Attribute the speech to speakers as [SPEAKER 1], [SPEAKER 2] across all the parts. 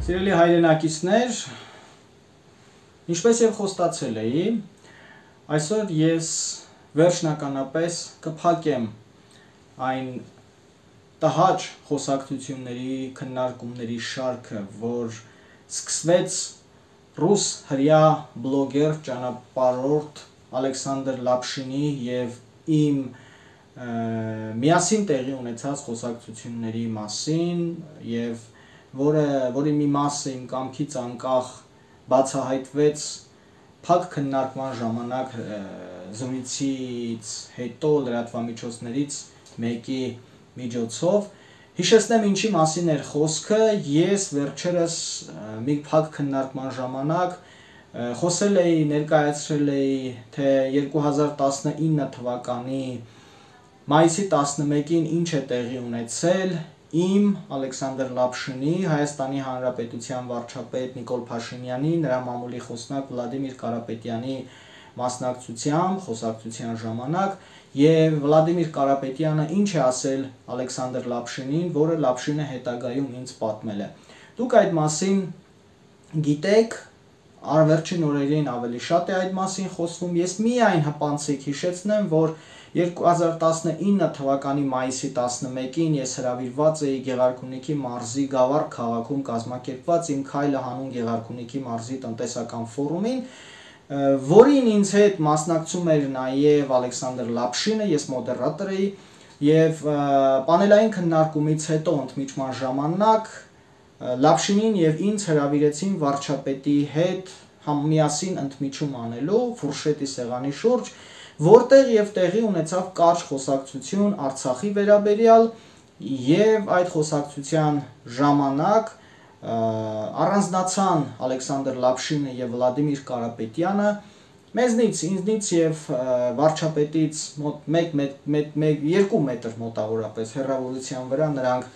[SPEAKER 1] Սիրելի հայրենակիցներ, ինչպես եւ խոստացել էի, այսօր ես վերջնականապես կփակեմ այն տհաճ խոսակցությունների, քննարկումների շարքը, որ սկսվեց ռուս հրյա բլոգեր ճանապարհորդ Ալեքսանդր Լապշինի եւ իմ միասին տեղի ունեցած խոսակցությունների մասին եւ որի մի մասը իմ կամքից անկախ բացահայտվեց փակ քննարկման ժամանակ զրույցից հետո լրատվամիջոցներից մեկի միջոցով հիշեցնեմ ինչի մասին էր խոսքը ես վերջերս մի փակ քննարկման ժամանակ խոսել էի ներկայացրել էի թե 2019 թվականի մայիսի 11-ին ինչ է տեղի ունեցել իմ Ալեքսանդր Լապշինի, Հայաստանի Հանրապետության վարչապետ Նիկոլ Փաշինյանի, նրա մամուլի խոսնակ Վլադիմիր Կարապետյանի մասնակցությամբ խոսակցության ժամանակ եւ Վլադիմիր Կարապետյանը ինչ է ասել Ալեքսանդր Լապշինին, որը Լապշինը հետագայում ինձ պատմել է։ Դուք այդ մասին գիտեք, վերջին օրերին ավելի շատ է այդ մասին խոսվում, ես միայն հպանցիկ հիշեցնեմ, որ 2019 թվականի մայիսի 11-ին ես հրավիրված էի Գեղարքունիքի մարզի Գավառ քաղաքում կազմակերպված իմ քայլը հանուն Գեղարքունիքի մարզի տնտեսական ֆորումին, որին ինձ հետ մասնակցում էր նաև Ալեքսանդր Լապշինը, ես մոդերատոր էի եւ պանելային քննարկումից հետո ընդմիջման ժամանակ Լապշինին եւ ինձ հրավիրեցին վարչապետի հետ միասին ընդմիջում անելու ֆուրշետի սեղանի շուրջ, որտեղ եւ տեղի ունեցավ կարճ խոսակցություն Արցախի վերաբերյալ եւ այդ խոսակցության ժամանակ առանձնացան Ալեքսանդր Լապշինը եւ Վլադիմիր Կարապետյանը մեզնից, ինձնից եւ վարչապետից մոտ 2 մետր մոտավորապես հեռավորության վրա նրանք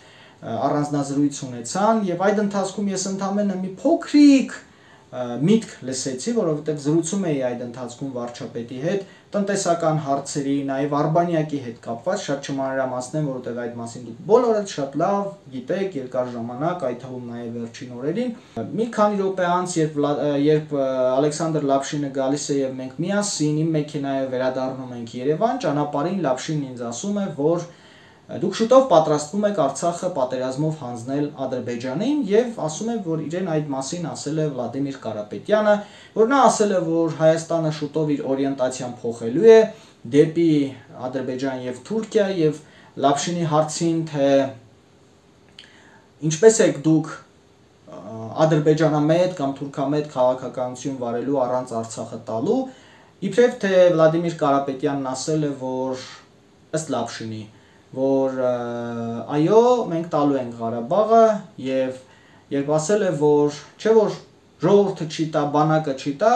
[SPEAKER 1] առանձնազրույց ունեցան եւ այդ ընթացքում ես ընդամենը մի փոքրիկ միտք լսեցի, որովհետև զրուցում էի այդ ընթացքում վարչապետի հետ տնտեսական հարցերի, նաև Արբանյակի հետ կապված, շատ չմանրամասնեմ, որովհետև այդ մասին դուք բոլորը շատ լավ գիտեք, երկար ժամանակ, այդ թվում նաև վերջին օրերին։ Մի քանի րոպե անց, երբ Ալեքսանդր Լապշինը գալիս է եւ մենք միասին իմ մեքենայով վերադառնում ենք Երևան, ճանապարհին Լապշինն ինձ ասում է, որ դուք շուտով պատրաստվում եք Արցախը պատերազմով հանձնել Ադրբեջանին եւ ասում է, որ իրեն այդ մասին ասել է Վլադիմիր Կարապետյանը, որ նա ասել է, որ Հայաստանը շուտով իր օրիենտացիան փոխելու է դեպի Ադրբեջան եւ Թուրքիա եւ Լապշինի հարցին, թե ինչպես եք դուք ադրբեջանամետ կամ թուրքամետ քաղաքականություն վարելու առանց Արցախը տալու, իբրև թե Վլադիմիր Կարապետյանն ասել է, որ ըստ Լապշինի որ այո, մենք տալու ենք Ղարաբաղը եւ երբ ասել է, որ չէ որ ժողովուրդը չի տա, բանակը չի տա,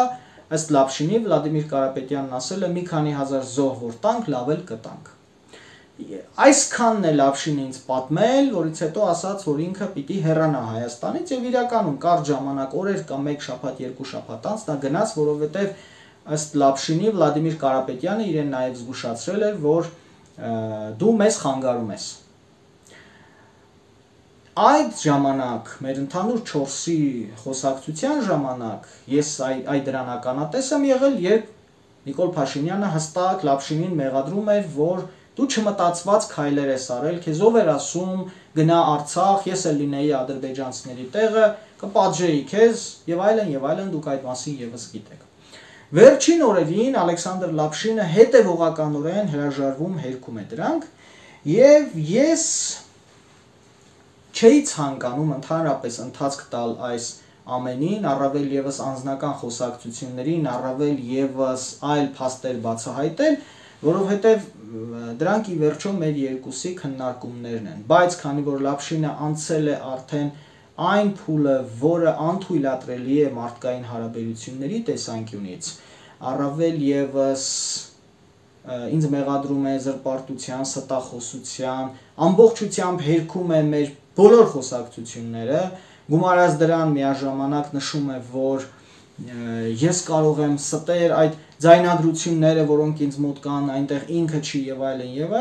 [SPEAKER 1] ըստ Լապշինի Վլադիմիր Կարապետյանն ասել է մի քանի հազար զոհ որ տանք, լավ էլ կտանք։ Այսքանն է Լապշինը ինձ պատմել, որից հետո ասաց, որ ինքը պիտի հեռանա Հայաստանից եւ իրականում կարճ ժամանակ, օրեր կամ 1 շաբաթ, 2 շաբաթ անց նա գնաց, որովհետեւ ըստ Լապշինի Վլադիմիր Կարապետյանը իրեն նաեւ զգուշացրել էր, որ դու մեզ խանգարում ես։ Այդ ժամանակ, մեր ընդհանուր 4-ի խոսակցության ժամանակ, ես այդ դրան ականատես եմ եղել, երբ Նիկոլ Փաշինյանը հստակ Լապշինին մեղադրում էր, որ դու չմտածված քայլեր ես արել, քեզ ով էր ասում գնա Արցախ, ես էլ լինեի ադրբեջանցիների տեղը, կպատժեի քեզ եւ այլն, դուք այդ մասին եւս գիտեք։ Վերջին օրերին Ալեքսանդր Լապշինը հետևողականորեն հրաժարվում հերքում է դրանք եւ ես չէի ցանկանում ընդհանրապես ընթացք տալ այս ամենին, առավել եւս անձնական խոսակցություններին, առավել եւս այլ փաստեր բացահայտել, որովհետեւ դրանք ի վերջո մեր երկուսի քննարկումներն են, բայց քանի որ Լապշինը անցել է արդեն այն փուլը, որը անթույլատրելի է մարդկային հարաբերությունների տեսանկյունից, առավել եւս ինձ մեղադրում է զրպարտության, ստախոսության, ամբողջությամբ հերքում է մեր բոլոր խոսակցությունները, գումարած դրան միաժամանակ նշում է, որ ես կարող եմ ստեր այդ ձայնագրությունները, որոնք ինձ մոտ կան, այնտեղ ինքը չի եւ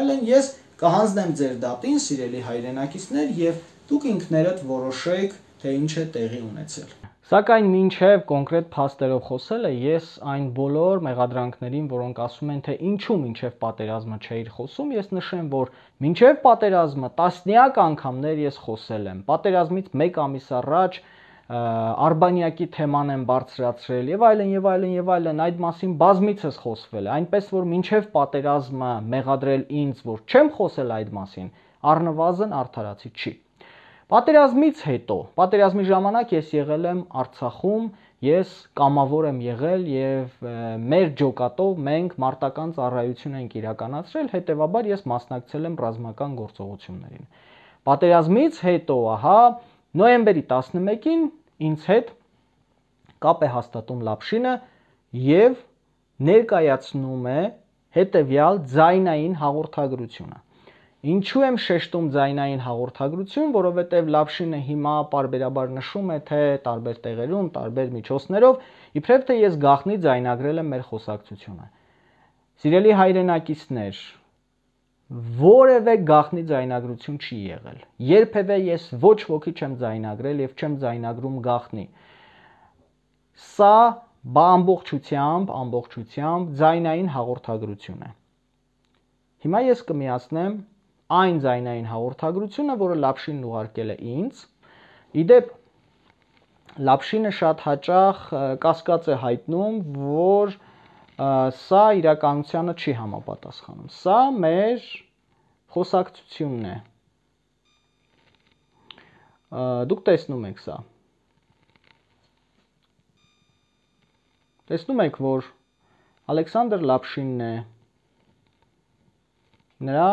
[SPEAKER 1] այլն, ես կհանձնեմ ձեր դատին, սիրելի հայրենակիցներ, եւ դուք ինքներդ որոշեք, թե ինչ է տեղի ունեցել։
[SPEAKER 2] Սակայն մինչև կոնկրետ փաստերով խոսելը, ես այն բոլոր մեղադրանքներին, որոնք ասում են, թե ինչու մինչև պատերազմը չէիր խոսում, ես նշեմ, որ մինչև պատերազմը տասնյակ անգամներ ես խոսել եմ։ Պատերազմից 1 ամիս առաջ Արբանյակի թեման եմ բարձրացրել եւ այլն եւ այլն եւ այլն, այդ մասին բազմիցս խոսվել է, այնպես որ մինչև պատերազմը մեղադրել ինձ, որ չեմ խոսել այդ մասին, առնվազն արդարացի չի։ Պատերազմից հետո, պատերազմի ժամանակ ես եղել եմ Արցախում, ես կամավոր եմ եղել եւ մեր ջոկատով մենք մարտական ծառայություն ենք իրականացրել, հետեւաբար ես մասնակցել եմ ռազմական գործողություններին։ Պատերազմից հետո, ահա, նոյեմբերի 11-ին ինձ հետ կապ է հաստատում Լապշինը եւ ներկայացնում է հետեւյալ ձայնային հաղորդագրությունը։ Ինչու եմ շեշտում ձայնային հաղորդագրություն, որովհետև Լապշինը հիմա պարբերաբար նշում է, թե տարբեր տեղերում, տարբեր միջոցներով, իբրև թե ես գաղտնի ձայնագրել եմ մեր խոսակցությունը։ Սիրելի հայրենակիցներ, որևէ գաղտնի ձայնագրություն չի եղել։ Երբևէ ես ոչ ոքի չեմ ձայնագրել եւ չեմ ձայնագրում գաղտնի։ Սա ամբողջությամբ ձայնային հաղորդագրություն է։ Հիմա ես կմիացնեմ այն ձայնային հաղորդագրությունը, որը Լապշինն ուղարկել է ինձ։ Իդեպ Լապշինը շատ հաճախ կասկած է հայտնում, որ սա իրականությանը չի համապատասխանում։ Սա մեր խոսակցությունն է։ Դուք տեսնում եք սա։ Տեսնում եք, որ Ալեքսանդր Լապշինն է, նրա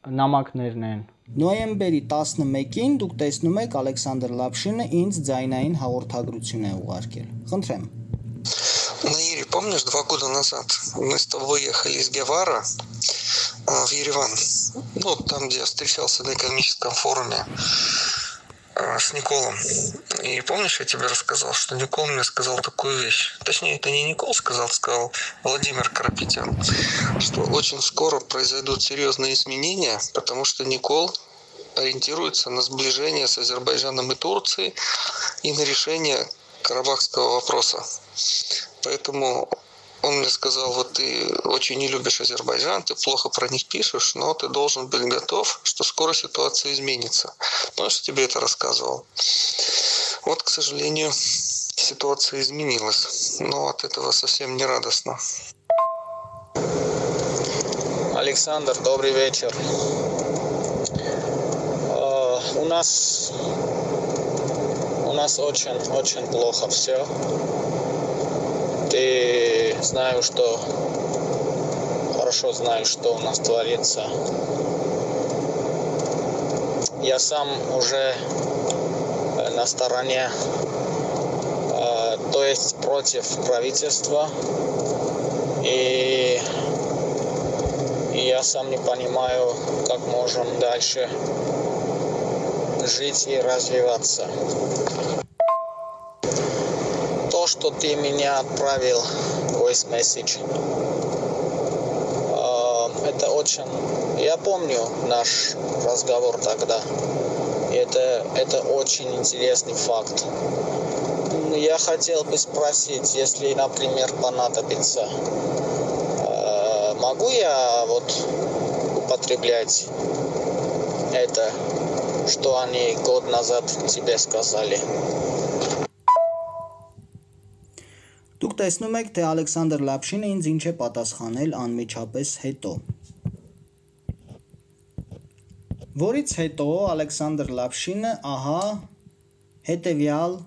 [SPEAKER 2] նամակներն են։
[SPEAKER 1] Նոյեմբերի 11-ին դուք տեսնում եք Ալեքսանդր Լապշինը ինձ ձայնային հաղորդագրություն է угարկել։ Խնդրեմ։
[SPEAKER 3] Наири, помнишь, 2 года назад мы с тобой ехали из Гевара в Ереван, ну, там, где я встречался на экономическом форуме с Николом. И помнишь, я тебе рассказал, что Никол мне сказал такую вещь. Точнее, это не Никол сказал Владимир Карапетян, что очень скоро произойдут серьезные изменения, потому что Никол ориентируется на сближение с Азербайджаном и Турцией и на решение карабахского вопроса. Поэтому он мне сказал, вот ты очень не любишь Азербайджан, ты плохо про них пишешь, но ты должен быть готов, что скоро ситуация изменится. Помнишь, я тебе это рассказывал? Вот, к сожалению, ситуация изменилась, но от этого совсем не радостно.
[SPEAKER 4] Александр, добрый вечер. У нас очень плохо все. Ты хорошо знаешь, что у нас творится. Я сам уже на стороне, то есть против правительства. И я сам не понимаю, как можем дальше жить и развиваться. То, что ты меня отправил voice message, это очень... Я помню наш разговор тогда. Это очень интересный факт. Я хотел бы спросить, если, например, понадобится, могу я употреблять это, что они год назад тебе сказали?
[SPEAKER 1] Դուք տեսնում եք, թե Ալեքսանդր Լապշինը ինձ ինչ է պատասխանել անմիջապես հետո։ Որից հետո Ալեքսանդր Լապշինը ահա հետևյալ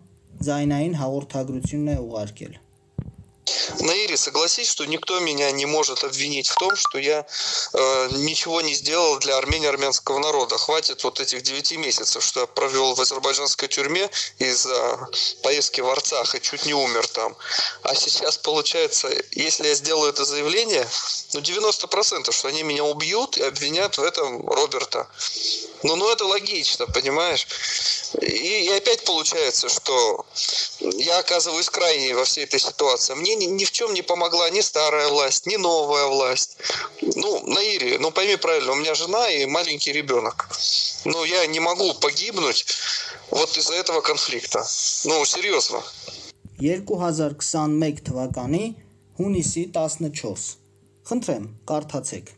[SPEAKER 1] ձայնային հաղորդագրությունն է ուղարկել։
[SPEAKER 3] Наири, согласись, что никто меня не может обвинить в том, что я ничего не сделал для Армении, армянского народа. Хватит вот этих 9 месяцев, что я провел в азербайджанской тюрьме из-за поездки в Арцах и чуть не умер там. А сейчас, получается, если я сделаю это заявление, 90%, что они меня убьют и обвинят в этом Роберта. Ну это логично, понимаешь? И опять получается, что я оказываюсь крайней во всей этой ситуации. Мне ни в чем не помогла ни старая власть, ни новая власть. Наири, пойми правильно, у меня жена и маленький ребенок. Но я не могу погибнуть Вот из-за этого конфликта. Ну, серьезно.
[SPEAKER 1] 2021 թվականի հունիսի 14։ Խնդրեմ, կարդացեք։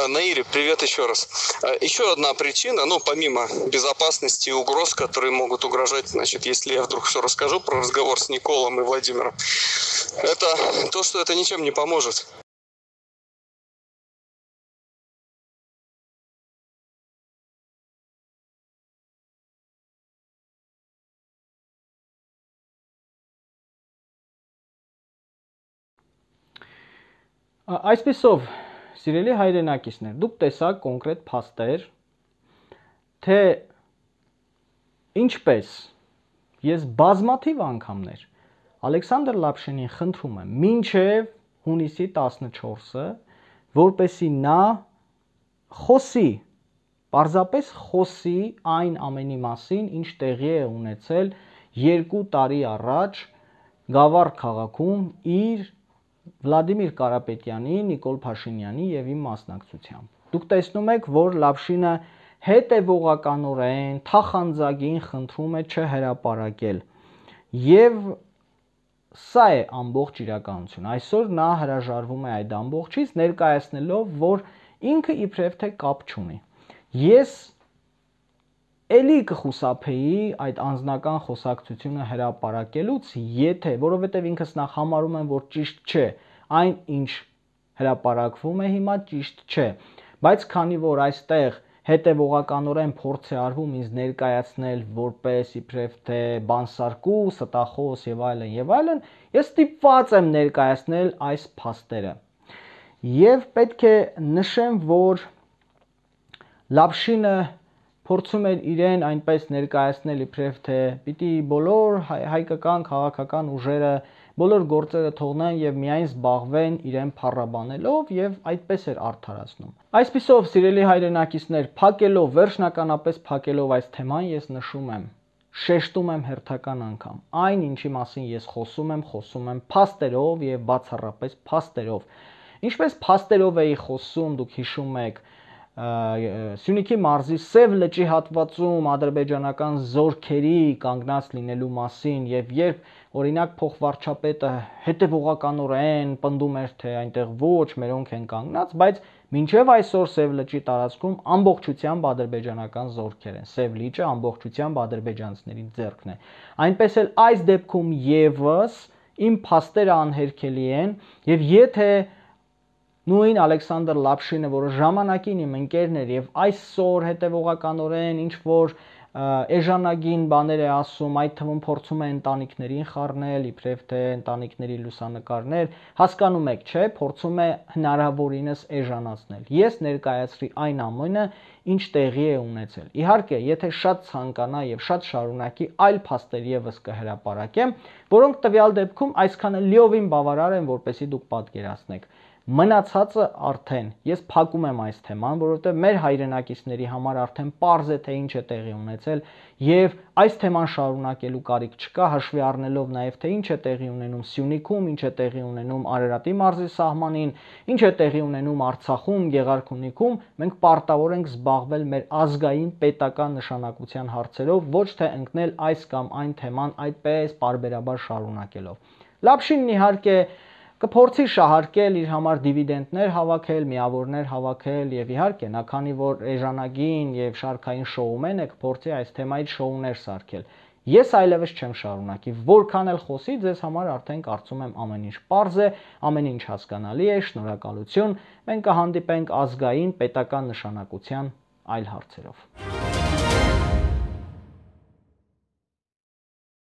[SPEAKER 3] Наири, привет еще раз. Еще одна причина, ну, помимо безопасности и угроз, которые могут угрожать, значит, если я вдруг все расскажу про разговор с Николом и Владимиром, это то, что это ничем не поможет.
[SPEAKER 2] Այսպիսով, սիրելի հայրենակիցներ, դուք տեսաք կոնկրետ փաստեր, թե ինչպես ես բազմաթիվ անգամներ Ալեքսանդր Լապշինին խնդրում եմ մինչև հունիսի 14-ը, որպեսզի նա խոսի, պարզապես խոսի այն ամենի մասին, ինչ տեղի է ունեցել 2 տարի առաջ Գավառ քաղաքում իր Վլադիմիր Կարապետյանի, Նիկոլ Փաշինյանի եւ իմ մասնակցությամբ։ Դուք տեսնում եք, որ Լապշինը հետևողականորեն թախանձագին խնդրում է չհրապարակել։ Եվ սա է ամբողջ իրականություն։ Այսօր նա հրաժարվում է այդ ամբողջից, ներկայացնելով, որ ինքը իբրև թե կապ չունի։ Ես էլի կխուսափեի այդ անձնական խոսակցությունը հրապարակելուց, եթե, որովհետև ինքս նախ համարում եմ, որ ճիշտ չէ, այն ինչ հրապարակվում է հիմա ճիշտ չէ, բայց քանի որ այստեղ հետևողականորեն փորձ է արվում ինձ ներկայացնել որպես իբրև թե բանսարկու, ստախոս եւ այլն, ես ստիպված եմ ներկայացնել այս փաստերը։ Եվ պետք է նշեմ, որ Լապշինը փորձում էր իրեն այնպես ներկայացնել իբրև թե պիտի բոլոր հայկական քաղաքական ուժերը բոլոր գործերը թողնեն եւ միայն զբաղվեն իրեն փառաբանելով եւ այդպես էր արդարացնում։ Այսպիսով, սիրելի հայրենակիցներ, փակելով, վերջնականապես փակելով այս թեման, ես նշում եմ, շեշտում եմ հերթական անգամ, այն ինչի մասին ես խոսում եմ փաստերով եւ բացառապես փաստերով։ Ինչպես փաստերով էի խոսում, դուք հիշում եք, Սյունիքի մարզի Սև լճի հատվածում ադրբեջանական զորքերի կանգնած լինելու մասին եւ երբ օրինակ փոխվարչապետը հետևողականորեն պնդում էր թե այնտեղ ոչ մերոնք են կանգնած, բայց մինչեւ այսօր Սև լճի տարածքում ամբողջությամբ ադրբեջանական զորքեր են։ Սև լիճը ամբողջությամբ ադրբեջանցիների ձեռքն է։ Այնպես էլ այս դեպքում եւս իմ փաստերը անհերքելի են եւ եթե նույն Ալեքսանդր Լապշինը, որը ժամանակին իմ ընկերն էր եւ այսօր հետևողականորեն ինչ որ էժանագին բաներ է ասում, այդ թվում փորձում է ընտանիքներին խառնել, իբրև թե ընտանիքների լուսանկարներ, հասկանում եք, չէ, փորձում է հնարավորինս էժանացնել։ Ես ներկայացրի այն ամենը, ինչ տեղի է ունեցել։ Իհարկե, եթե շատ ցանկանա եւ շատ շարունակի, այլ փաստեր եւս կհրապարակեմ, որոնք տվյալ դեպքում այսքանը լիովին բավարար են, որպեսզի դուք պատկերացնեք։ Մնացածը արդեն ես փակում եմ այս թեման, որովհետև մեր հայրենակիցների համար արդեն պարզ է թե ինչ է տեղի ունեցել եւ այս թեման շարունակելու կարիք չկա, հաշվի առնելով նաեւ թե ինչ է տեղի ունենում Սյունիքում, ինչ է տեղի ունենում Արարատի մարզի սահմանին, ինչ է տեղի ունենում Արցախում, Գեղարքունիքում, մենք պարտավոր ենք զբաղվել մեր ազգային պետական նշանակության հարցերով, ոչ թե ընկնել այս կամ այն թեման այդպես պարբերաբար շարունակելով։ Լապշինն իհարկե կփորձի շահարկել իր համար դիվիդենդներ հավաքել, միավորներ հավաքել եւ իհարկե նա քանի որ էժանագին եւ շարքային շոումեն է, կփորձի այս թեմայից շոուներ սարքել։ Ես այլևս չեմ շարունակի, որքան էլ խոսի, ձեզ համար արդեն կարծում եմ ամեն ինչ պարզ է, ամեն ինչ հասկանալի է, շնորհակալություն։ Մենք կհանդիպենք ազգային պետական նշանակության այլ հարցերով։